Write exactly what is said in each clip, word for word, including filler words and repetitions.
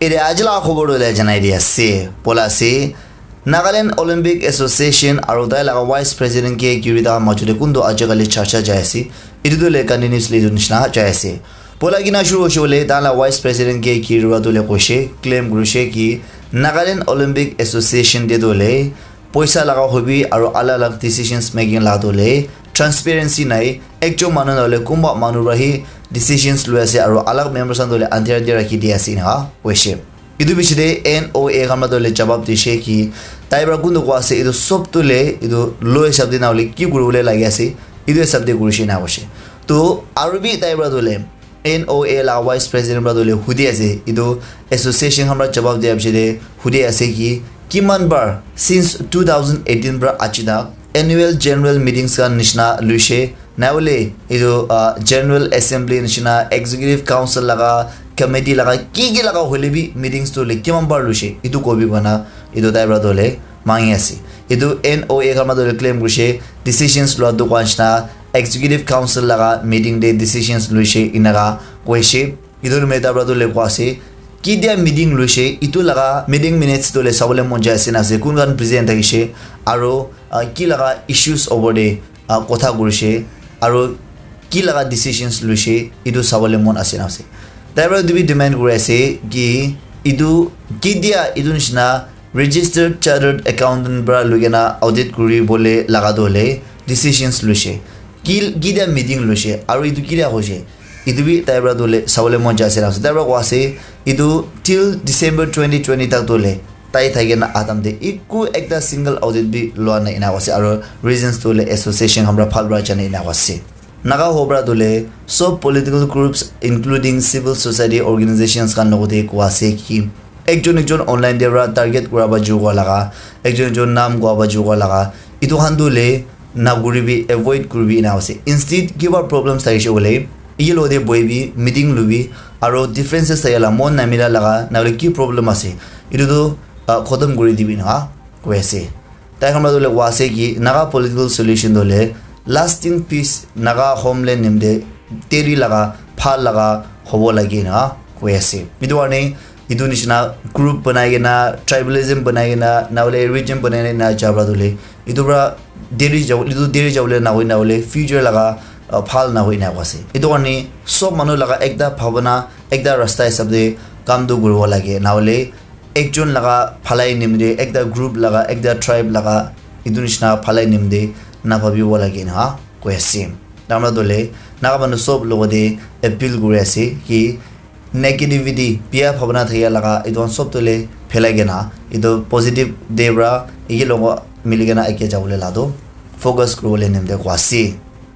Ede aji laga khobor tu le janai di ase. Bola ase, Nagaland Olympic Association aru tai laga Vice President K Kirita majo de kuntu aji kali charcha jai ase. Itu tu le continuously itu nishina jai ase. Bola kina shuru hoise bole, tai laga Vice President K Kirita tu le koise, claim kurise ki Nagaland Olympic Association de tu le poisa laga hobi aru alag alag decisions making laga tu le transparency nai, ekjon manu na hoile kunba manu para hi decisions lui ase aru alag members khan tu le andhera te rakhi di ase ena koise. Itu piche te N O A khan para tu le jawab dise ki tai para kuntu koa ase, itu sob tu le itu law hisab te na hoile ki kuri bole lagi ase, itu hisab te kurise na koise. To aru bi tai para tu le N O A la Vice President para tu le hudi ase, itu association khan para jawab dia piche te hudi ase ki kiman bar since two thousand eighteen para aji tak annual general meetings khan nishina luise, na hoile itu, ah, General Assembly nishina, Executive Council laga, committee laga, ki ki laga hoile bi meetings tu le kiman bar luise, itu kobi kona itu tai para tu le mangi ase. Itu N O A khan para tu le claim kurise, decisions lua dukan nishina, Executive Council laga meeting de decisions luise inaka koise. Itu number ta para tu le koa ase, ki dia meeting luise, itu laga meeting minutes tu le sabole mon jai ase na ase, kun khan present thakise, aru, ah, ki laga issues over de, ah, kotha kurise, aru ki laga decisions luise, itu sabole mon ase na ase. Tai para itu bi demand kuri ase ki itu ki dia itu nishina registered chartered accountant para lui kena audit kuri bole laga tu le decisions luise, ki ki dia meeting luise, aru itu ki dia hoise. Itu bi tai para tu le sabole mon jai ase na ase. Tai para koa ase, itu till December twenty twenty tak tu le tai thaki na atam te iku ekta single audit bi lua na ena koa ase, aru reasons tu le association khan para phal para jane ena koa ase. Naga hobra tu le sob political groups including civil society organizations khan logote koa ase ki ekjon ekjon online te para target kura ba ju koa laga, ekjon ekjon naam koa ba ju koa laga, itu khan tu le na kuribi, avoid kuribi ena ase. Instead kiba problems thakise bole, iye logote bohibi, meeting lubi, aru differences thakila mon namila laga na hoile ki problem ase, itu tu, ah, khotom kuri dibi na koi ase. Tai khan para tu le koa ase ki Naga political solution tu le lasting peace Naga homeland nimite teri laga phal laga hobo lagi na koi ase. Itu karne itu nishina group banai kena, tribalism banai kena, na hoile region banai kena ja para tu le itu para deri jabo, itu deri jabo le na hoi na hoile future laga, uh, phal na hoi na koa ase. Itu karne sob manu laga ekta bhabana, ekta rasta hisab te kam tu kuribo lage, na hoile ekjon laga bhalai nimite, ekta group laga, ekta tribe laga itu nishina bhalai nimite na bhabibo lage na koi ase. Tamra dole Naga manu sob logote appeal kuri ase ki negativity, biya bhabana thakya laga itu khan sob tu le phelai kena itu positive te para eki logo mili kena eke jabole la tu focus kuribole nimite koa ase.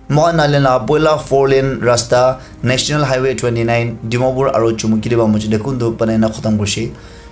Mohan Nagaland la poila four lane rasta National Highway twenty nine Dimapur aru Chumukiri ba mujute kuntu banai na khatam kurise.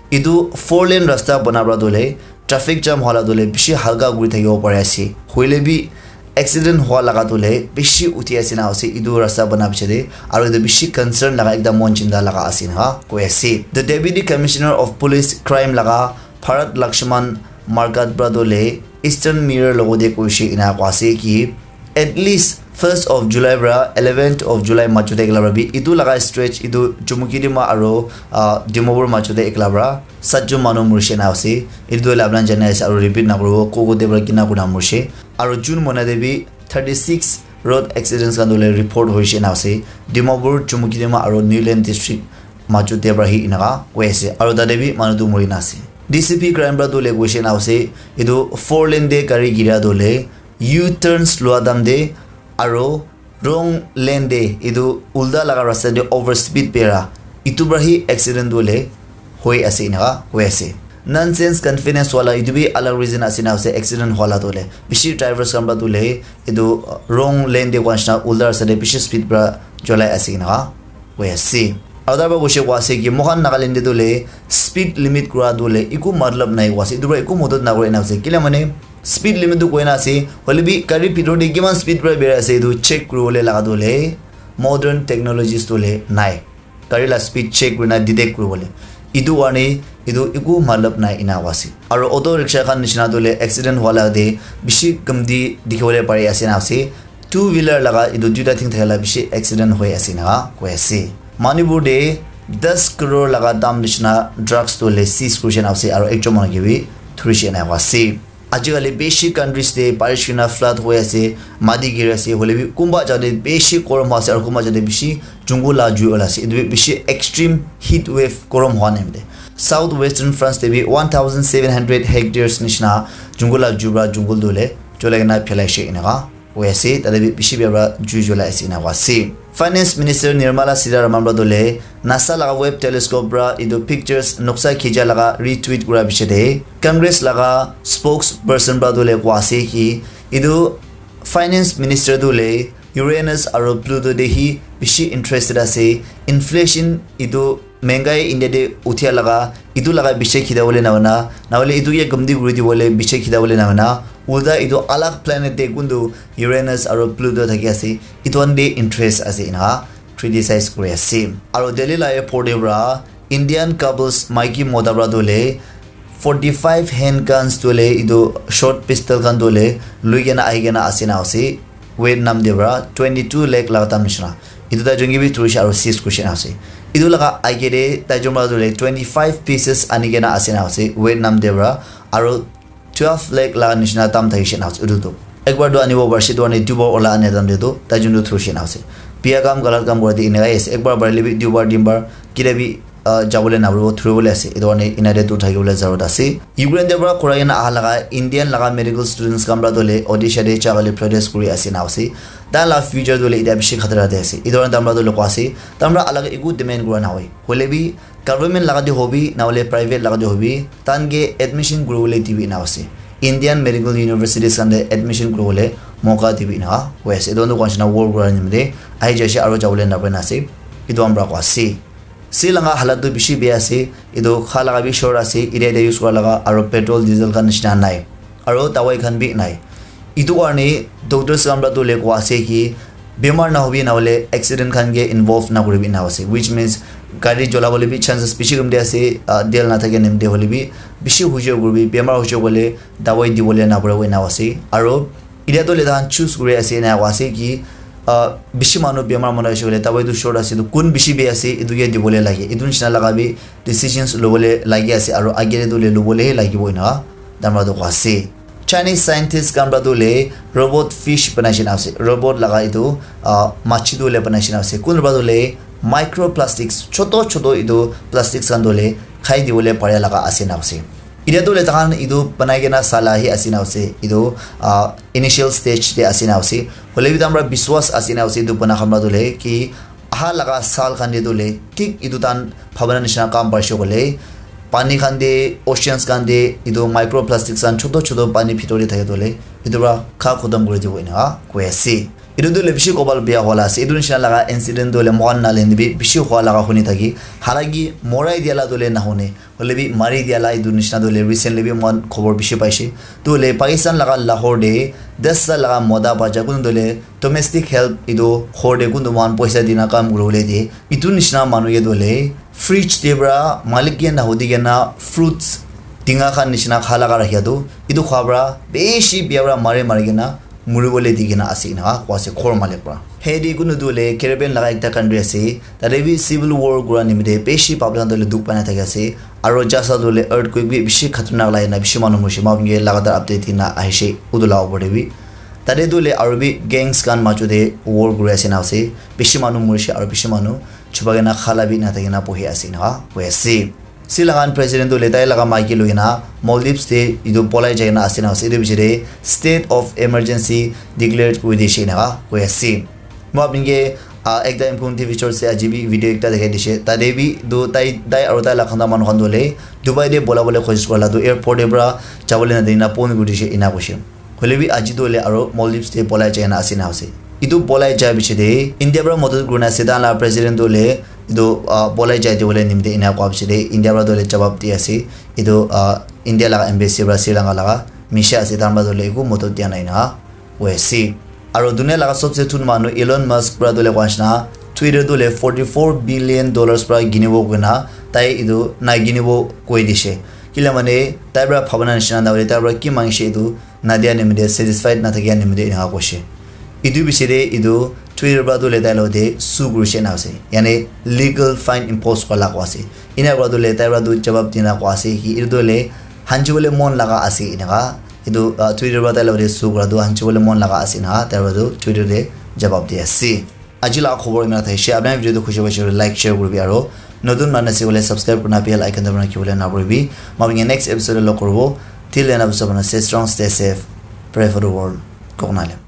Itu four lane rasta bana para tu le traffic jam hola tu le bishi halka kuri thakibo pari ase. Hoile bi accident hua laga tu le bishi uthi ase na ase itu rasta bana piche te, aru itu bishi concern laga ekta mon chinta laga ase na koi ase. The Deputy Commissioner of Police Crime laga Bharat Lakshman Markat para tu le Eastern Mirror logote koise ena koa ase ki at least first of July para eleventh of July mujute ekla para bi itu laga stretch itu Chumukidima aru, ah, Dimapur mujute ekla para satjon manu murise na ase. Itu hoile apna jane ase aru repeat na kuribo, ko ko te para kina kuna murise. Aru June mahina te bi thirty six road accidents khan tu le report hoise na ase Dimapur, Chumukidima aru Niuland district mujute para hi enaka koi ase. Aru tate bi manu tu muri na ase. D C P crime para tu le koise na ase, itu four lane te gari gira tu le U-turns lua time te aru wrong lane te itu ulta laga rasta te over speed pera itu para hi accident tu le hoi ase enaka koi ase. Nonsense confidence wala itu bi alag reason ase na ase accident hua la tu le. Bishi drivers khan para tu le itu wrong lane te koa nishina ulta rasta te bishi speed para cholai ase enaka koi ase. Aru tai para koise koa ase ki moikhan Nagaland te tu le speed limit kura tu le eku matlab nai koa ase. Itu para eku modot na kore na ase. Kile mane speed limit tu koi na ase. Hoile bi gari bhitor te kiman speed para berai ase itu check kuribole laga tu le modern technologies tu le nai. Gari la speed check kurina detect kuribole. Itu karne itu eku matlab nai ena koa ase. Aru auto rickshaw khan nishina tu le accident hua la te bishi kamti dikhibole pari ase na ase. Two wheeler laga itu duita thing thakila bishi accident hoi ase na koi ase. Manipur te das crore laga dam nishina drugs tu le seize kurishe na ase aro ekjon manu ke bi thurishe na ase. Ajikali beshi countries te barish kena flood hoi ase, mati giri ase, hoile bi kunba jate beshi gorom hoi ase aro kunba jate beshi jungle la jui ola ase. Etu bi beshi extreme heat wave gorom hoi na ase. South Western France te bi one thousand seven hundred hectares nishina jungle la jui pra jungle tu le jolai kena phelai she enaka hoi ase, tate bi bishi bia pra jui julai ase ena koi ase. Finance Minister Nirmala Sitharaman pra tu le NASA laga web telescope pra etu pictures noksa khicha laga retweet kura piche te Congress laga spokesperson pra tu le koi ase ki etu Finance Minister tu le Uranus aro Pluto te hi bishi interested ase. Inflation etu mengai India te uthia laga, etu laga biche khida bole na hoina, na hole etu ke gumdi kuri di bole biche khida bole na hoina, ulta etu alag planet te kuntu Uranus aro Pluto thaki ase, etu khan te interest ase ena criticize kuri ase. Aro Delhi la airport te pra Indian couples maiki mota pra tu le forty five handguns tu le etu short pistol khan tu le lui kena ahi kena ase na ase. Vietnam te pra twenty two lakh laga dam nishina. Etu tai jun ke bi thurishe aro seize kurishe na ase. Etu laga aage te tai jun pra tu le twenty five pieces ani kena ase na ase Vietnam te pra aro twelve lakh laga nishina dam thakishe na ase etu tu. Ekbar tu anibo parishe tu ani dubar ola ani dam te tu tai jun tu thurishe na ase. Biya kam galat kam kura te eneka ase. Ekbar parile bi dubar tinbar kile bi ah, jabole naparibo, thuribole ase. Etu karne ena te dur thakibole zarurat ase. Ukraine te para khurai kena aha laga Indian laga medical students khan para tu hoile Odisha te jabole protest kuri ase ena ase. Tai la future tu hoile eta bishi khatara te ase. Etu karne tai para tu hoile koi ase. Tai para alak eku demand kura nahoi. Hoile bi government laga te hobi, na hoile private laga te hobi, tai khan ke admission kuribole dibi ena ase. Indian medical universities khan te admission kuribole moka dibi ena hoi ase. Etu karne koi ase na work kura nimite ahi jai ase aro jabole napare na ase. Etu khan para koi ase. Sea laga halat tu bishi bia ase. Etu kha laga bi short ase. Area te use kura laga aro petrol, diesel khan nishina nai. Aro dawai khan bi nai. Etu karne doctors khan para tu hoile koi ase ki bemar na hobi na hoile accident khan ke involve na kuribi ena ase. Which means gari jola bole bi chances bishi kom de ase. Ah, tel na thake nimite hoile bi bishi hujai kuribi, bemar hujai koile dawai dibole na paribo ena ase. Aro Etia tu hoile tai khan choose kuri ase ena koi ase ki, ah, bishi manu bemar manu aise koile dawai tu short ase tu kun bishi bia ase etu ke dibole lage. Etu nishina laga bi decisions lobole lagi ase aro age te tu hoile lobole he lagibo ena tai para tu koi ase. Chinese scientist khan para tu hoile robot fish banai shina ase. Robot laga etu, ah, machi tu hoile banai shina ase. Kun para tu hoile microplastics, choto choto etu plastics khan tu hoile khai dibole pare laga ase ena ase. Etia tu hoile tai khan etu banai kena sala hi ase ena ase. Etu, ah, initial stage te ase ena ase. Hoile bi tai para biswas ase ena ase etu bana khan para tu hoile ki aha laga saal khan te tu hoile thik etu tai khan bhabana nishina kam paise koile pani khan te, oceans khan te etu microplastics khan choto choto pani bhitor te thake tu hoile etu para kha khotom kuri dibo ena koi ase. Etu tu hoile bishi kobal bia wala ase. Etu nishina laga incident tu hoile moikhan Nagaland te bi bishi hua laga huni thaki. Halaki morai dia la tu hoile nahune. Hoile bi mari dia la etu nishina tu hoile recently bi moikhan khobor bishi paise. Tu hoile Pakistan laga Lahore te das ta laga mota bacha kun tu hoile domestic help etu ghor te kun tu moikhan poisa dina kam kuribole diye. Etu nishina manu ke tu hoile fridge te para malik ke nahudi kena fruits tinga khan nishina kha laga rakhia tu. Etu kha para bishi bia para mari mari kena muribole di kena ase ena koi ase ghor malik para. Haiti kunu tu hoile Caribbean laga ekta country ase. Tate bi civil war kura nimite bishi public khan tu hoile dukh pai na thaki ase. Aro jasa tu hoile earthquake bi bishi khatarnak lai na bishi manu morise. Moikhan ke lagatar update dina ahishe utu la opor te bi. Tate tu hoile aro bi gangs khan majo te war kuri ase ena ase. Bishi manu morise aro bishi manu chupa kena khala bi na thaki na bohi ase ena koi ase. Sri Lankan president tu hoile tai laga maiki loi kena Maldives te etu polai jai kena ase ena ase. Etu piche te state of emergency declared kuri dishe ena koi ase. Moi apni ke, ah, ekta informative resource te aji bi video ekta dekhai dishe. Tate bi tu tai, tai aro tai laga khanda manu khan tu hoile Dubai te bola bole koshish kura la tu airport te para jabole na dina phone kuri dishe ena koishe. Hoile bi aji tu hoile aro Maldives te polai jai na ase na ase. Etu polai jai piche te India para madad kurina ase, tai la president tu hoile etu, ah, polai jai dibole nimite ena koa piche te India para tu hoile jawab di ase. Etu, ah, India laga embassy para Sri Lanka laga misha ase, tai para tu hoile eku madad dia nai na koi ase. Aro dunia laga sobse thun manu Elon Musk para tu hoile koa nishina Twitter tu hoile forty four billion dollars para kinibo koina tai etu nai kinibo koi dishe. Kile mane tai para bhabana nishina na hoile tai para ki mangishe etu nadia nimite, satisfied nathakia nimite eneka koishe. Etu bishi de etu Twitter para tu le tai lo de sue kurishe na ase. Yani legal fine impose kora la ko ase. Ina kora tu le tai para tu jawab dina ko ase ki etu tu le hanchi bole mon laga ase ina ka. Etu uh, Twitter para tai lo de sue kora tu hanchi bole mon laga ase ina ka. Tai para tu Twitter de jawab di ase. Aji la khobor ina thai she. Apna video tu khushi bashi like share kuri bi aro. Notun mana se bole subscribe kurna bell icon dabana ki bole na buri bi. Ma next episode lo korbo. Till then, stay strong, stay safe. Pray for the world. Koknale.